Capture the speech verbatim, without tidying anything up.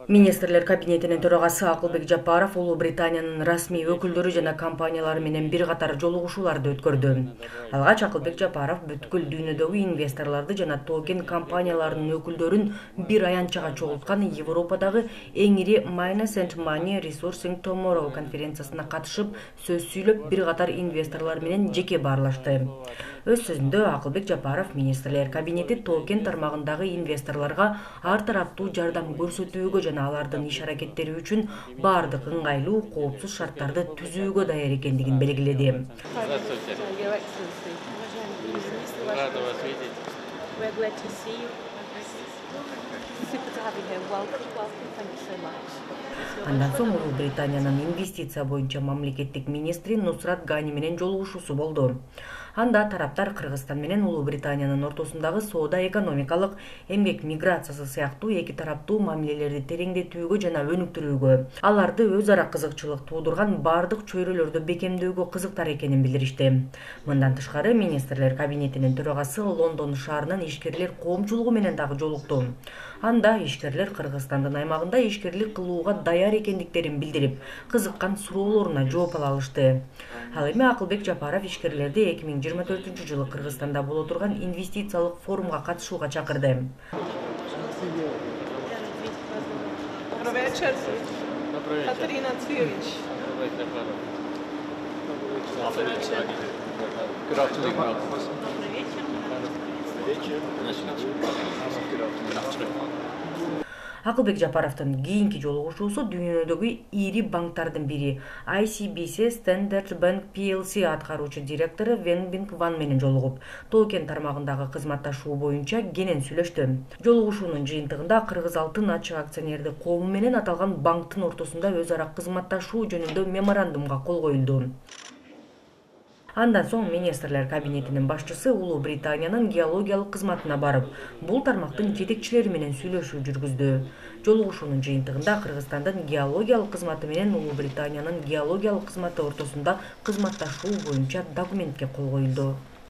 Министрлер кабинетинин төрагасы Акылбек Жапаров Улуу Британиянын расмий өкүлдөрү жана компаниялары менен бир катар жолугушууларды өткөрдү. Алгач Акылбек Жапаров бүткүл дүйнөдөгү инвесторлорду жана токен компанияларынын өкүлдөрүн бир аянтчага чогулткан Европадагы эң ири Miners and Money Resourcing Tomorrow конференциясына катышып, сөз сүйлөп, бир катар инвесторлор менен жеке баарлашты. Өз сөзүндө Акылбек Жапаров министрлер кабинети токен тармагындагы инвесторлорго ар тараптуу жардам көрсөтүүгө жана алардын иш аракеттери үчүн баардык ыңгайлуу, коопсуз шарттарды түзүүгө даяр экендигин белгиледи. Андан соң Улуу Британиянын инвестиция боюнча мамлекеттик министри Нусрат Гани менен жолугушуусу болду. Анда тараптар Кыргызстан менен Улуу Британиянын ортосундагы соода экономикалык, эмгек миграциясы сыяктуу эки тараптуу мамилелерди тереңдетүүгө жана өнүктүрүүгө, аларды өз ара кызыкчылык туудурган бардык чөйрөлөрдү бекемдөөгө кызыктар экенин билдиришти. Мындан тышкары министрлер кабинетинин төрагасы Лондон шаарынын ишкерлер коомчулугу менен дагы жолукту. Анда ишкерлер Кыргызстандын аймагында ишкерлик кылууга даяр экендиктерин билдирип, кызыккан суроолоруна жооп ала алышты. Ал эми Акылбек Жапаров ишкерлерди эки миң жыйырма төртүнчү жылы Кыргызстанда боло турган инвестициялык форумга катышууга чакырды. Акылбек Жапаровдун кийинки жолугушуусу дүйнөдөгү ири банктардын бири I C B C Standard Bank P L C аткаруучу директору Вен Бинг Ван менен жолугуп, токен тармагындагы кызматташуу боюнча кенен сүйлөштү. Жолугушуунун жыйынтыгында Кыргыз алтын ачык акционердик коому менен аталган банктын ортосунда өз ара кызматташуу жөнүндө меморандумга кол коюлду. Андан соң министрлер кабинетинин башчысы Улуу Британиянын геологиялык кызматына барып, бул тармактын жетекчилери менен сүйлөшүү жүргүздү. Жолугушуунун жыйынтыгында Кыргызстандын геологиялык кызматы менен Улуу Британиянын геологиялык кызматы ортосунда кызматташуу боюнча документке кол коюлду.